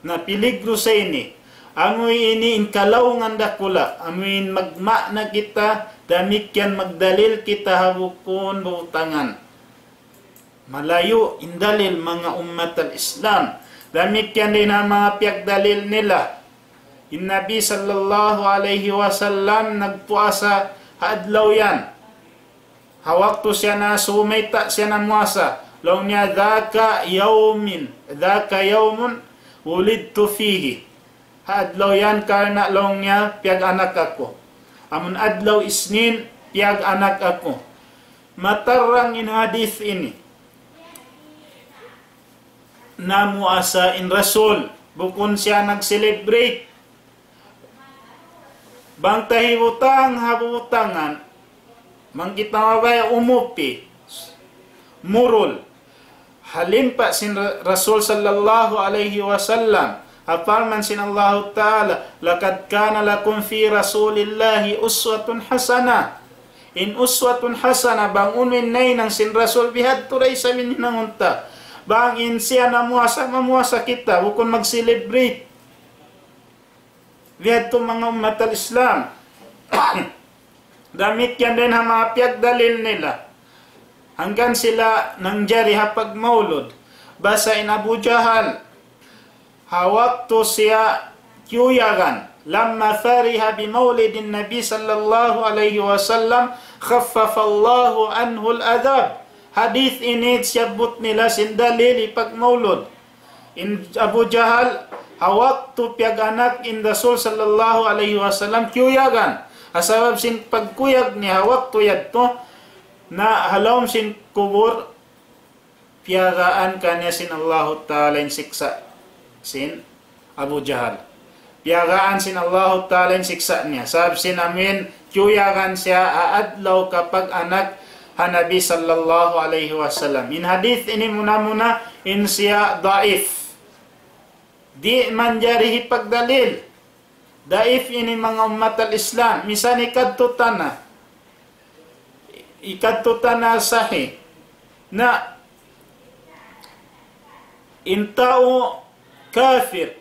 Na piligru sa ini. Amu ini in kalaungan dakula'. Amu in magma'na kita, damikkiyan magdalil kita ha bukun butangan. Malayu' in dalil manga ummat al-Islam. Damikkiyan diin ha manga piyagdalil nila. In Nabi sallallahu alayhi wasallam nagpuasa ha adlaw yan. Ha waktu siya na sumayta' siya namuasa. Laung niya, ذاك يوم، ذاك يوم ولدت فيه. Ha adlaw yan karna' laung niya piyag-anak aku. Amun adlaw Isnin, piyag-anak aku. Matarrang in hadith ini. namuasa in Rasul, bukun siya nag-celebrate. Bang ta hibutang ha butangan, bang kita mabaya' umupi, murul, ha limpa' sin Ra-, Rasul sallallahu alayhi wasallam, ha parman sin Allahu Ta'ala, لقد كان لكم في رسول الله أسوة حسنة. In uswatun hasana, bang unu in nahinang sin Rasul, bihadtu da isab in hinangun ta. Bang in siya namuasa, mamuasa kita, bukun mag-celebrate. Bihadtu manga ummat al-Islam. Damikkiyan dayn ha manga piyagdalil nila. Hangkan sila nangjari ha pagmaulud. Basa in Abu Jahal, ha waktu siya kiyuyagan, لما فرح بمولد النبي صلى الله عليه وسلم خفف الله عنه العذاب. Hadith ini siyabbut nila sin dalil hipagmaulud. In Abu Jahal, ha waktu piyag-anak in Rasul sallallahu alayhi wasallam, kiyuyagan. Ha sabab sin pagkuyag niya ha waktu yadtu, na ha lawm sin kubul, piyagaan kaniya sin Allahu Ta'ala in siksa' sin Abu Jahal. Piyagaan sin Allahu Ta'ala in siksa' niya. Sabab sin amuin kiyuyagan siya ha adlaw kapag-anak ha Nabi sallallahu alayhi wasallam. In hadith ini muna-muna in siya daif. Di' manjari hipagdalil. Daif ini manga ummat al-Islam. Misan hikadtu ta na. Hikadtu ta na sahih. Na in tau kafir.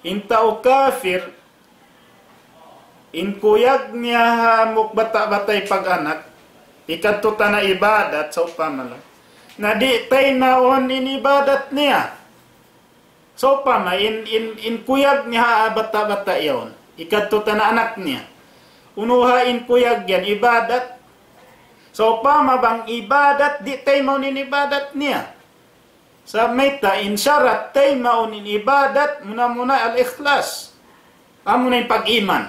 In tau kafir, in kuyag niya ha hambuuk bata'-bata' hipag-anak, hikadtu ta na ibadat, sawpama laung. Na di' taymaun in ibadat niya. Sawpama, in, in, in kuyag niya ha bata'-bata' yaun. Hikadtu ta na anak niya. Unu ha in kuyag yan, ibadat. Sawpama bang ibadat, di' taymaun in ibadat niya. Sa' mayta' in sharat taymaun in ibadat, muna-muna al-ikhlas. Amuna in pag-iman.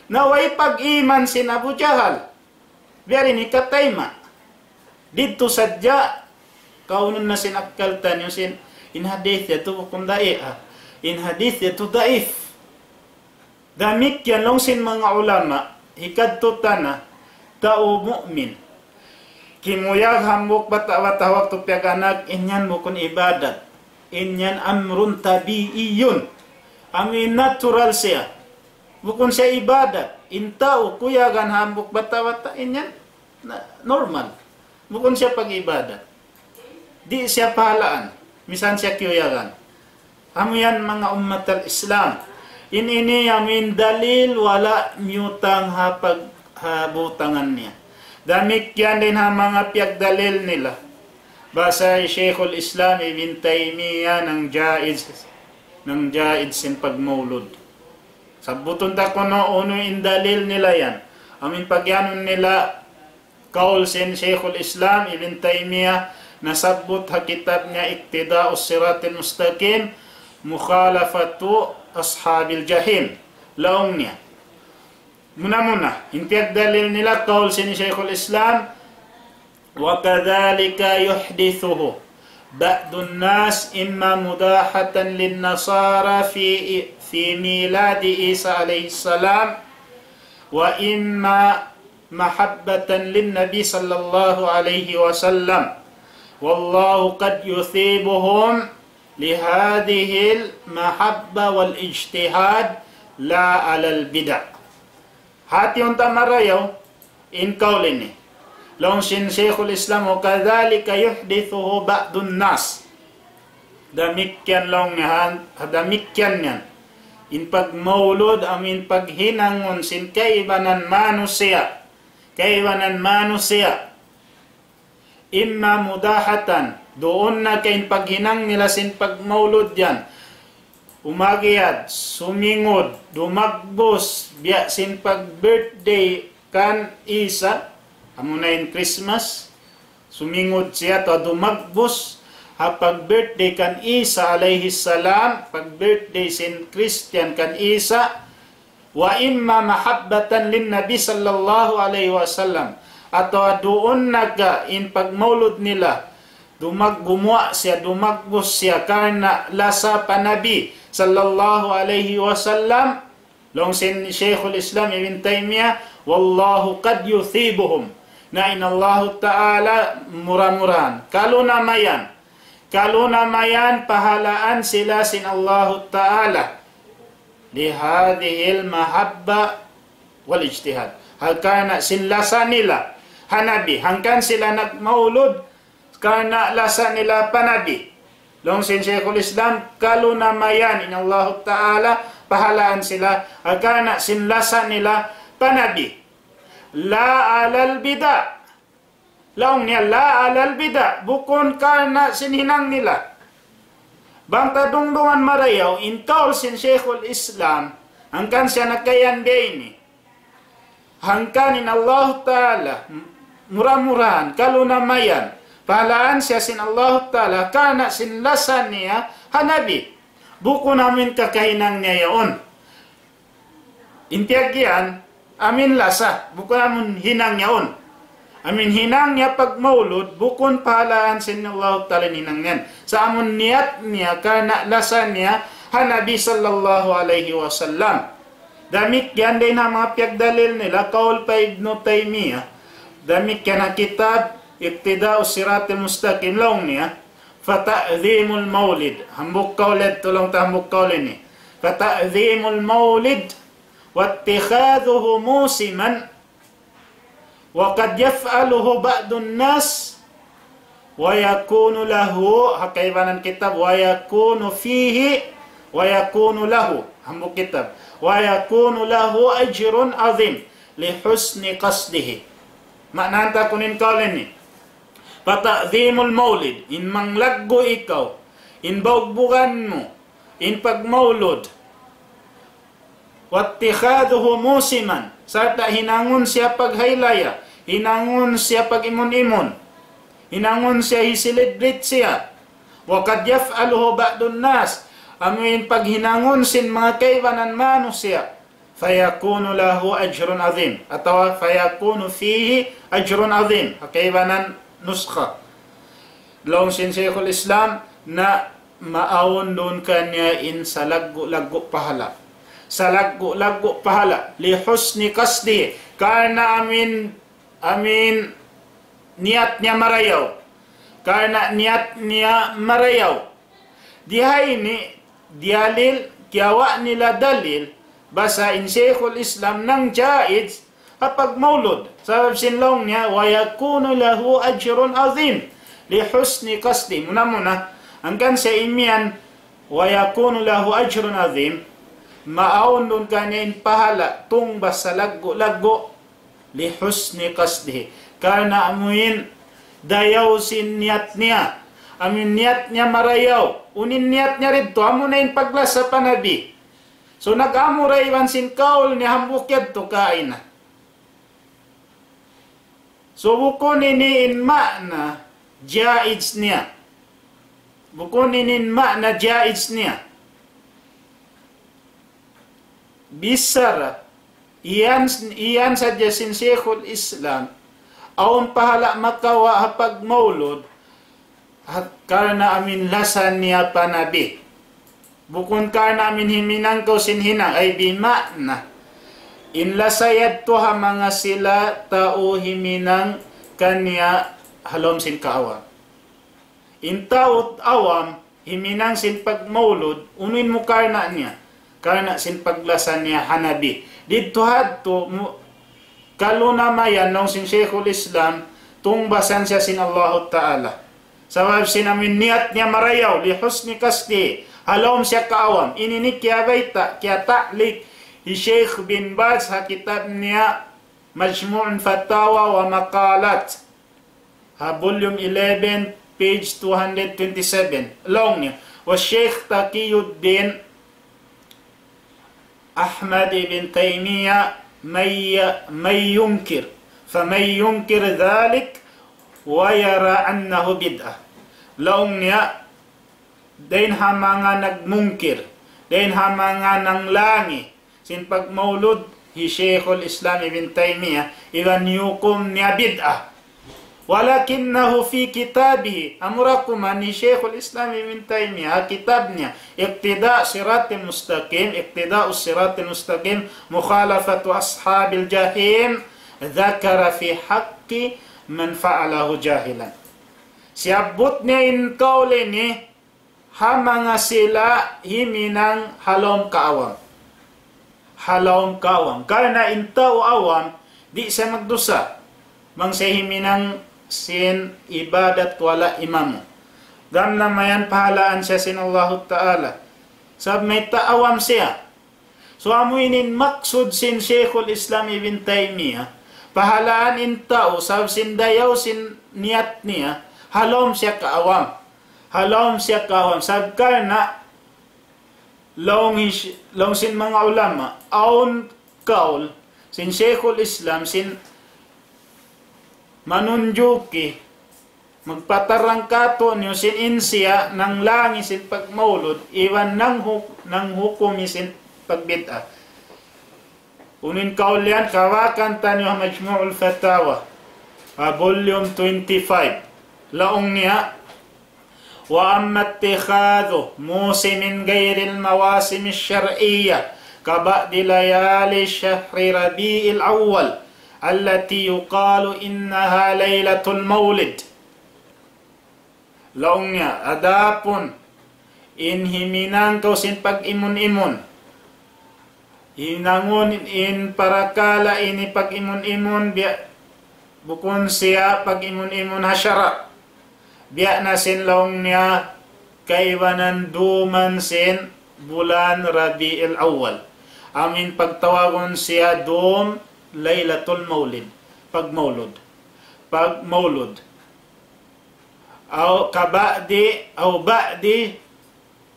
Na way pag-iman sin Abu Jahal. Biya' diin hikatayma'. Didtu sadja, kaunun na sin akkal taniyu sin, in hadith yadtu bukun da'i, ah. In hadith yadtu daif. Damikkiyan laung sin manga ulama, hikadtu ta na, tau mu'min. Kimuyag hambuuk bata'-bata' waktu piyag-anak, in yan bukun ibadat. In yan amrun tabi'iyun. Amu in natural siya. Bukun siya ibadat. In tau kuyagan hambuuk bata'-bata', in yan na, normal. Bukun siya pag-ibadat. Di' siya pahalaan. Misan siya kiyuyagan. Amu yan manga ummat al-Islam. In ini amu in dalil wala' miyutang ha pag-, ha butangan niya. Damikkiyan dayn ha manga piyagdalil nila. Basa hi Shaykhul Islam Ibn Taymiyyah nang jaiz, nang jaiz sin pagmaulud. Sabbutun ta kunu' unu in dalil nila yan. Amu in pagiyanun nila kaul sin Shaykhul Islam Ibn Taymiyyah nasabbut ha kitab niya Iqtida'us Siratil Mustaqim, Mukhalafatu Ashabil Jahim. Laung niya. Muna-muna, in piyagdalil nila kaul sin Shaykhul Islam, وكذلك يحدثه بعض الناس إما مداحة للنصارى في، في ميلاد عيسى عليه السلام، وإما محبة للنبي صلى الله عليه وسلم، والله قد يثيبهم لهذه المحبة والاجتهاد لا على البدع. Hati unta' marayaw, in kaul ini. Laung sin Shaykhul Islam, وكذلك يحدثه بعض الناس. Damikkiyan laung niya, ha, damikkiyan yan. In pagmaulud, amu in paghinangun sin kaibanan manusiya'. Kaibanan manusiya'. إما مداحة, duun na ka in paghinang nila sin pagmaulud yan. Umagiyat, sumingud, dumagbus, biya' sin pag-birthday kan Isa, amuna in Christmas, sumingud siya atawa dumagbus, ha pag-birthday kan Isa alayhi salam, pag-birthday sin Christian kan Isa, وإما محبة للنبي صلى الله عليه وسلم. Atawa duun na ka in pagmaulud nila, Dumag-, gumuwa' siya, dumagbus siya karna' lasa pa Nabi sallallahu alayhi wasallam. Laung sin Shaykhul Islam Ibn Taymiyyah, "والله قد يثيبهم." Na in Allahu Ta'ala mura-murahan, kalunamayan, kalunamayan pahalaan sila sin Allahu Ta'ala. لهذه المحبة والاجتهاد. Hal karna' sin lasa nila ha Nabi, hangkan sila nagmaulud, karna' lasa nila pa Nabi. Laung sin Shaykhul Islam, kalunamayan in Allahu Ta'ala pahalaan sila, hal karna' sin lasa nila pa Nabi. لا على البدع. Laung niya, لا على البدع, bukun karna' sin hinang nila. Bang ta dungdungan marayaw, in kaul sin Shaykhul Islam, hangkan siya nakayan biya' ini. Hangkan in Allahu Ta'ala, mura-murahan, kalunamayan, pahalaan siya sin Allahu Ta'ala, karna' sin lasa niya ha Nabi. Bukun amuin kakahinang niya yaun. In piyag-iyan, amuin lasa, bukun amuin hinang yaun. Amuin hinang niya pagmaulud, bukun pahalaan sin Allahu Ta'ala in hinang niya. Sa' amuin niyat niya, karna' lasa niya, ha Nabi sallallahu alayhi wasallam. Damikkiyan dayn ha manga piyagdalil nila, kaul pa Ibnu Taymiyyah. Damikkiyan ha kitab اقتضاء الصراط المستقيم, laung niya, فتعظيم المولد. Hambuuk kaul yadtu, laung ta hambuuk kaul ini. فتعظيم المولد واتخاذه موسما وقد يفعله بعض الناس ويكون له, ha kaibanan kitab, ويكون فيه, ويكون له, hambuuk kitab, ويكون له أجر عظيم لحسن قصده. Maana ta kunu' in kaul ini. فتعظيم المولد, in manglaggu' ikaw, in baugbugan mu, in pagmaulud. واتخاذه موسما, sarta' hinangun siya paghaylaya, hinangun siya pag-imun-imun, hinangun siya hi-celebrate siya. وقد يفعله بعض الناس, amuin paghinangun sin manga kaibanan manusiya'. فيكون له أجر عظيم, atawa فيكون فيه أجر عظيم, ha kaibanan nuskha. Laung sin Shaykhul Islam na maawn duun kaniya in salaggu'-laggu' pahala. Salaggu'-laggu' pahala. لحسن قصده. Karna' amuin, amuin niyat niya marayaw. Karna' niyat niya marayaw. Di ha ini, diyalil, kiyawa' nila dalil, basa in Shaykhul Islam nang jaiz, ha pagmaulud. Sabab sin laung niya, ويكون له أجر عظيم لحسن قصده. Muna-muna, hangkan siya imiyan, ويكون له أجر عظيم, maawn duun kaniya in pahala, tungbas salaggu'-laggu', لحسن قصده. Karna' amuin dayaw sin niyat niya. Amuin niyat niya marayaw. Unu in niyat niya didtu, amuna in paglasa pa Nabi. So, nag-amu da iban sin kaul niya hambuuk yadtu kaina. So, bukun ini in maana jaiz niya. Bukun ini in maana jaiz niya. Bichara, iyan, iyan sadja sin Shaykhul Islam, awn pahala makawa' ha pagmaulud, ha-, karna' amuin lasa niya pa Nabi. Bukun karna' amuin himinang kaw sin hinang, ay bima'na. In lasa yadtu ha manga sila tau himinang kaniya ha lawm sin kaawam. In tau awam, himinang sin pagmaulud, unu in mu karna' niya? Karna' sin paglasa niya ha Nabi. Didtu hadtu, mu-, kalunamayan laung sin Shaykhul Islam, tungbasan siya sin Allahu Ta'ala. Sabab sin amuin niyat niya marayaw, لحسن قصده, ha lawm siya kaawam. Ini ini kiyabayta', kiyata'liq, hi Shaykh bin Baz ha kitab niya مجموع الفتاوى والمقالات. Ha volume eleven, page two hundred twenty-seven. Laung niya, وشيخ تقي الدين أحمد بن تيمية من ي-، من ينكر، فمن ينكر ذلك ويرى أنه بدعة. Laung niya, dayn ha manga nagmungkir, dayn ha manga nanglangi sin pagmaulud hi Shaykhul Islam Ibn Taymiyyah, iban hiyukum niya bid'ah. ولكنه في كتابه, amura kuman hi Shaykhul Islam Ibn Taymiyyah, ha kitab niya, اقتضاء الصراط المستقيم, اقتضاء الصراط المستقيم، مخالفة أصحاب الجحيم، ذكر في حق من فعله جاهلا. Siyabbut niya in kaul ini, ha manga sila himinang ha lawm kaawam. Ha lawm kaawam. Karna' in tau awam, di' siya magdusa. Bang siya himinang sin ibadat wala' imamu. Gam na mayan pahalaan siya sin Allahu Ta'ala. Sabab mayta' awam siya. So, amu ini in maksud sin Shaykhul Islam Ibn Taymiyyah, pahalaan in tau, sabab sin dayaw sin niyat niya, ha lawm siya kaawam. Ha lawm siya kaawam. Sabab karna', laung, laung sin manga ulama, awn kaul, sin Shaykhul Islam, sin manunjuki, magpatarang kātu'niyu sin in siya nanglangi sin pagmaulud, iban nanghu-, nanghukumi sin pagbid'a. Unu in kaul yan, kawakan taniyu ha Majmu'ul Fatawa, ha volume twenty-five. Laung niya, وأما اتخاذ موسم غير المواسم الشرعية كبعض ليالي شهر ربيع الأول التي يقال إنها ليلة المولد. Laung niya, adapun in himinang kaw sin pag-imun-imun, hinangun in parakala' ini pag-imun-imun, biya' bukun siya pag-imun-imun ha sara'. Biya' na sin laung niya kaibanan dūm sin bulan Rabiul Awwal. Amu in pagtawagun siya dūm Laylatul Maulid. Pagmaulud. Pagmaulud. Aw kaba'di, aw ba'di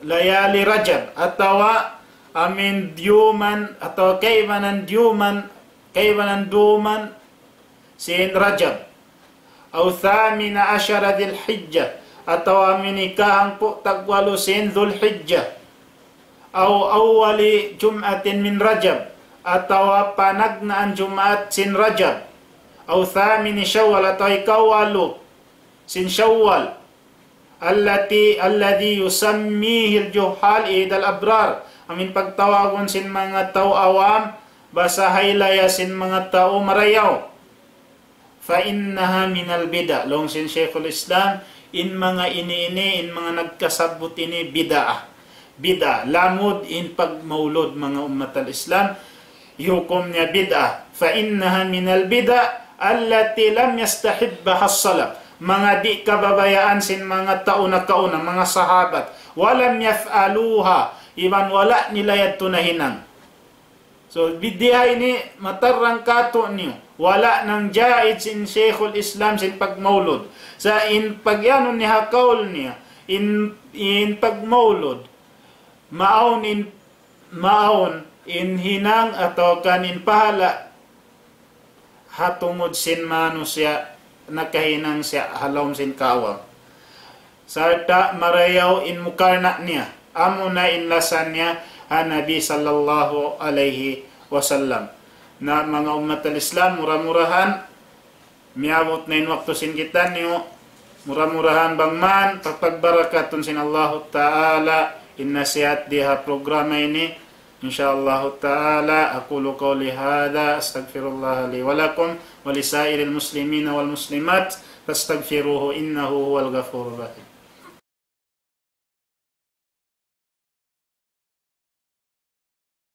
layali Rajab. Atawa amu in diyuman, atawa kaibanan diyuman, kaibanan dūm sin Rajab. أو ثامن عشر ذي الحجة, atawa amu in ikahangpu' tagwalu sin Dhul Hijjah. أو أول جمعة من رجب, atawa panagnaan Jumaat sin Rajab. أو ثامن شوال, atawa ikawalu sin Shawwal. التي، الذي يسميه الجهال عيد الأبرار. Amu in pagtawagun sin manga tau awam, basahaylaya sin manga tau marayaw. فإنها من البدع. Laung sin Shaykhul Islam, in manga ini-ini, in manga nagkasabbut ini bid'ah. Bid'ah. Lamud in pagmaulud, manga ummat al-Islam, hukum niya bid'ah. فإنها من البدع التي لم يستحبها السلف. Manga di' kababayaan sin manga tau nakauna, manga sahabat. ولم يفعلوها. Iban wala' nila yadtu nahinang. So, bid'ah ini matarang kātu'niyu. Wala' nang jaiz sin Shaykhul Islam sin pagmaulud. Sa' in pagyanun niya ha kaul niya, in, in pagmaulud, maawn in, maawn in hinang atawa kan in pahala' ha tungud sin manusiya' nakahinang siya ha lawm sin kaawam. Sarta' marayaw in mukarna' niya. Amuna in lasa niya ha Nabi sallallahu alayhi wasallam. Na manga ummat al-Islam, mura-murahan, miyabut na in waktu sin kitaniyu, mura-murahan bang man, papagbarakatun sin Allahu Ta'ala, in nasihat di ha programa ini, إن شاء الله تعالى. أقول قولي هذا، أستغفر الله لي ولكم ولسائر المسلمين والمسلمات، فاستغفروه إنه هو الغفور الرحيم.